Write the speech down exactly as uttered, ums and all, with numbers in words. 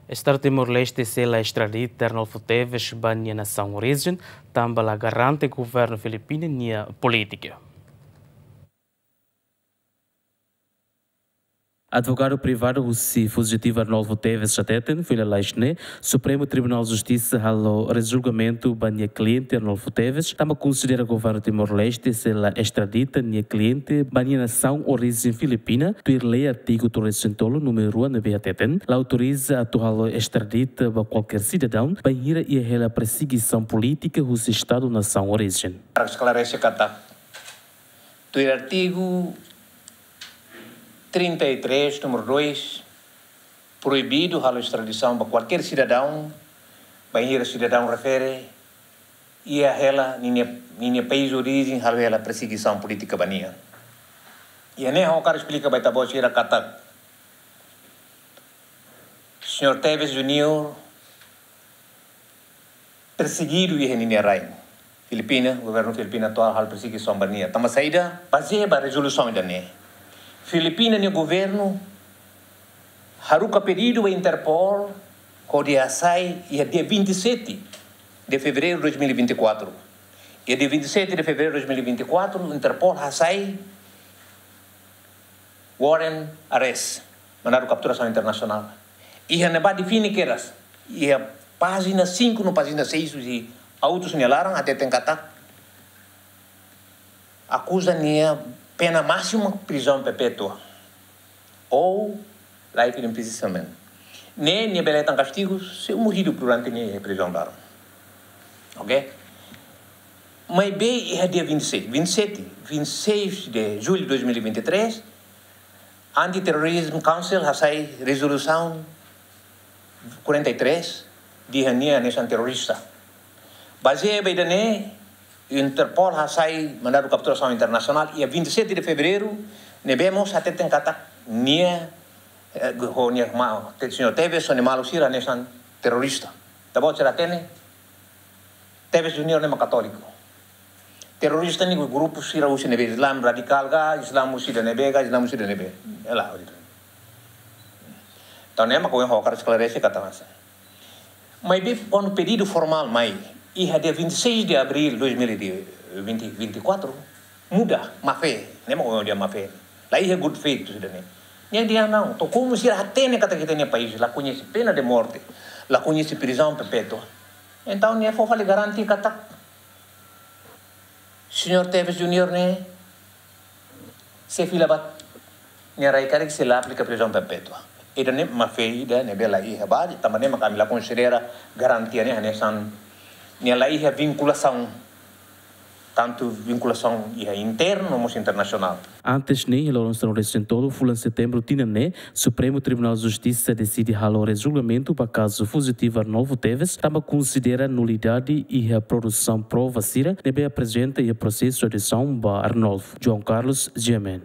Estadu Timor-Leste sei la estradita Arnolfo Teves ba nia nasaun orijen, tanba la garante governu Filipina nia polítika. Advogadu privadu husi fujitivu Arnolfo Teves hateten, foin lalais ne'e, Supremu Tribunál Justisa halo rejulgamentu ba nia kliente Arnolfo Teves, tanba konsidera governu Timor-Leste sei la estradita nia kliente ba nia nasaun orijen Filipina, tuir lei artigu tolunulu-resin-tolu númeru rua ne'ebé hateten, la autoriza atu halo estradita ba kualkér sidadaun, bainhira iha hela persegisaun polítika husi Estadu nasaun orijen. Para esklarese katak, tuir artigu trinta e três, númeru dois, proibidu halo estradisaun ba kualkér sidadaun, bainhira sidadaun refere iha hela ninia, ninia país orijen halo hela persegisaun polítika ba nia. Iha ne'e ha'u hakarak esplika ba ita-boot sira katak Señór Teves Junior persegidu iha ninia rain. Filipina, governu Filipina atuál halo persegisaun ba nia. Tanba saida, bazeia ba rezolusaun ida-ne'e, Filipina nia governu haruka pedidu ba Interpol hodi hasai iha dia vinte e sete de fevereiro de dois mil e vinte e quatro. Iha dia vinte e sete de fevereiro de dois mil e vinte e quatro, Interpol hasai warrant arrest, mandadu kapturasaun internasionál. Iha ne'ebá define kedas, iha pájina cinco no pájina seis husi autus nia laran hateten katak akuza nia pena másima prizaun perpétua ou life imprisonment. Ne'e nia bele hetan kastigu seumur hidup durante nia iha prizaun laran. Ok? Maibé iha dia vinte e seis, vinte e sete, vinte e seis de julho de dois mil e vinte e três, Anti-Terrorism Council hasai rezolusaun quarenta e três, dehan nia hanesan terrorista. Bazeia ba ida-ne'e, Interpol hasai mandadu kapturasaun internasionál iha vinte e sete de fevereiro, ne'ebé mós hateten katak nia, eh, ho nia ma-, te-, señór Teves ho nia maluk sira hanesan terrorista. Ita-boot sira hatene, Teves Junior ne'e mak katóliku. Terrorista ne'e grupu sira husi ne'ebé, Islam radikál ka, Islam husi ida-ne'ebé ka, Islam husi ida-ne'ebé. Ela, entaun ne'e mak ohin ha'u hakarak esklarese katak hanesan. Maibé kuandu pedidu formál mai, iha dia vinte e seis de abril dois mil e vinte e quatro, muda, má-fé, ne'e mak ohin dehan má-fé. La iha good faith husi ida-ne'e. Nia dehan não, to'o komu sira hatene katak ita-nia país la koñese pena de morte, la koñese prizaun perpétua. Entaun nia fó fali garantia katak señór Teves Junior ne'e sei fila ba nia rai karik sei la aplika prizaun perpétua. Ida-ne'e má-fé ida ne'ebé la iha ba, tanba ne'e mak ami la konsidera garantia ne'e hanesan nia la iha vinkulasaun, tantu vinkulasaun iha internu no mós internasionál. Antes ne'e, iha loron sanulu-resin-tolu fulan setembru tinan ne'e, Supremu Tribunál Justisa deside halo rejulgamentu ba kazu fujitivu Arnolfo Teves, tanba konsidera nulidade iha produsaun prova sira ne'ebé aprezenta iha prosesu audiasaun ba Arnolfo. João Carlos, G M N.